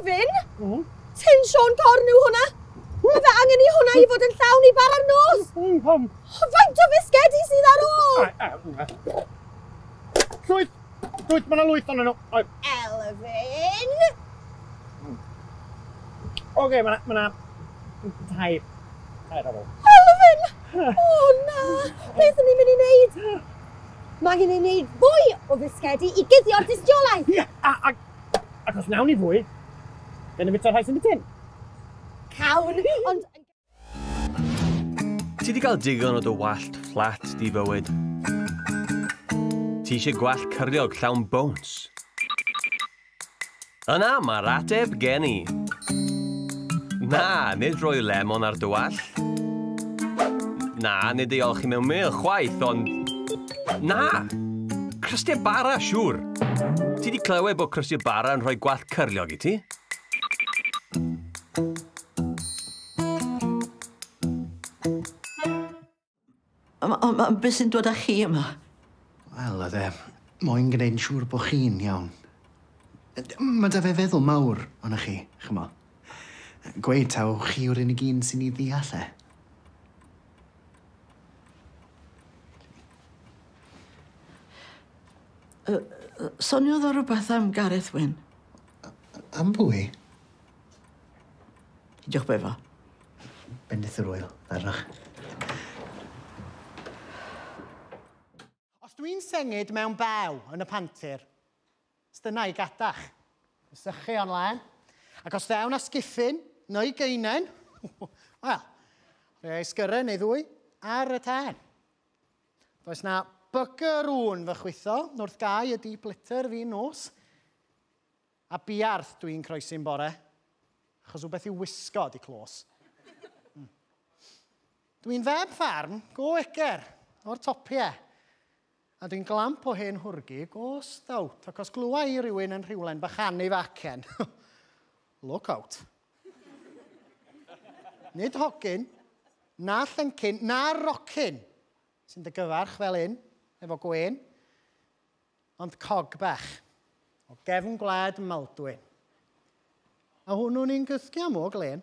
Elfyn? Tin Siôn Corn yw hwnna. Mae fe angen i hwnna i fod yn llawn i bara'r nos. Faint o fisgedi sydd ar ôl? Llwyth! Llwyth, mae yna lwyth ohonyn nhw. Elfyn! Oce, mae yna tair. Tair ar ôl. Elfyn! O na! Beth ydyn ni'n mynd i wneud? Mae angen i ni wneud fwy o fisgedi i guddio'r dystiolaeth. Ie, ac os wnawn ni fwy, gawn ni fwyta'r rhai sy'n y tin. Cawn, ond... Ti 'di gael digon o dy wallt fflat di fywyd? Ti eisiau gwallt cyrliog llawn bowns? Yna, mae'r ateb gen i. Na, nid rhoi lemon ar dy wallt. Na, nid ei olchi mewn mêl chwaith, ond... Na! Crystiau bara, siŵr. Ti 'di clywed bod crystiau bara yn rhoi gwallt cyrliog i ti? Ond beth sy'n dod â chi yma? Wel, oedd e moyn gwneud yn siŵr bod chi'n iawn. Mae 'da fe feddwl mawr ohonoch chi, ch'mo. Gweud taw chi yw'r unig un sy'n ei ddeall e. Soniodd o rywbeth am Gareth Wyn. Am bwy? Diolch befo. Bendith yr wyl, arnoch. Os dwi'n sengid mewn bew yn y pantir, dyna i gadach. Sychu o'n lan. Ac os ddewn â sgiffyn neu geinen, wel, rhoi sgyrren neu ddwy ar y tân. Does na bugger ŵn fy chwitho wrth gau y deep litter fi nos. A buarth dwi'n croesi'n bore, achos wbeth i'w wisgo di clos. Dwi'n feb ffarm go eger o'r topiau. A dwi'n glamp o hen hwrgi go stout, ac os glwa i rywun yn rhywle'n bychanu facen, look out. Nid hogyn, na llyncyn, na rocyn sy'n dy gyfarch fel un, efo gwên, ond cog bach o gefn gwlad Maldwyn. A hwnnw'n un gysgu am o glen.